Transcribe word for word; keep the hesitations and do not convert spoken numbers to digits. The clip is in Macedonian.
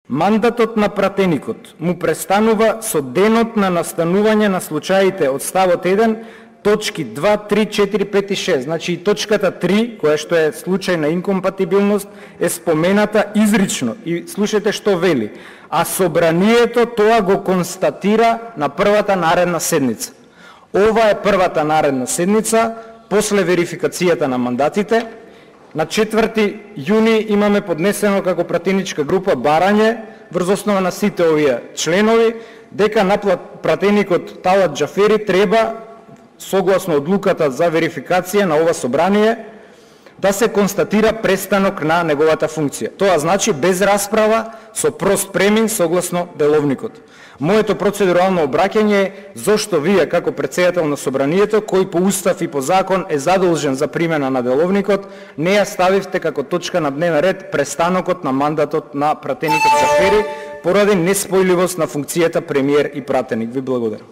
Мандатот на пратеникот му престанува со денот на настанување на случаите од ставот еден, точки два, три, четири, пет и шест. Значи и точката три, која што е случај на инкомпатибилност, е спомената изрично. И слушайте што вели. А собранието тоа го констатира на првата наредна седница. Ова е првата наредна седница, после верификацијата на мандатите. На четврти јуни имаме поднесено како пратеничка група барање врз основа на сите овие членови дека на пратеникот Талат Џафери треба, согласно одлуката за верификација на ова собрание, да се констатира престанок на неговата функција. Тоа значи без расправа, со прост премин согласно деловникот. Моето процедурално обраќање е зошто вие како претседател на собранието, кој по устав и по закон е задолжен за примена на деловникот, не ја ставивте како точка на дневен ред престанокот на мандатот на пратеникот Џафери поради неспојливост на функцијата премиер и пратеник. Ви благодарам.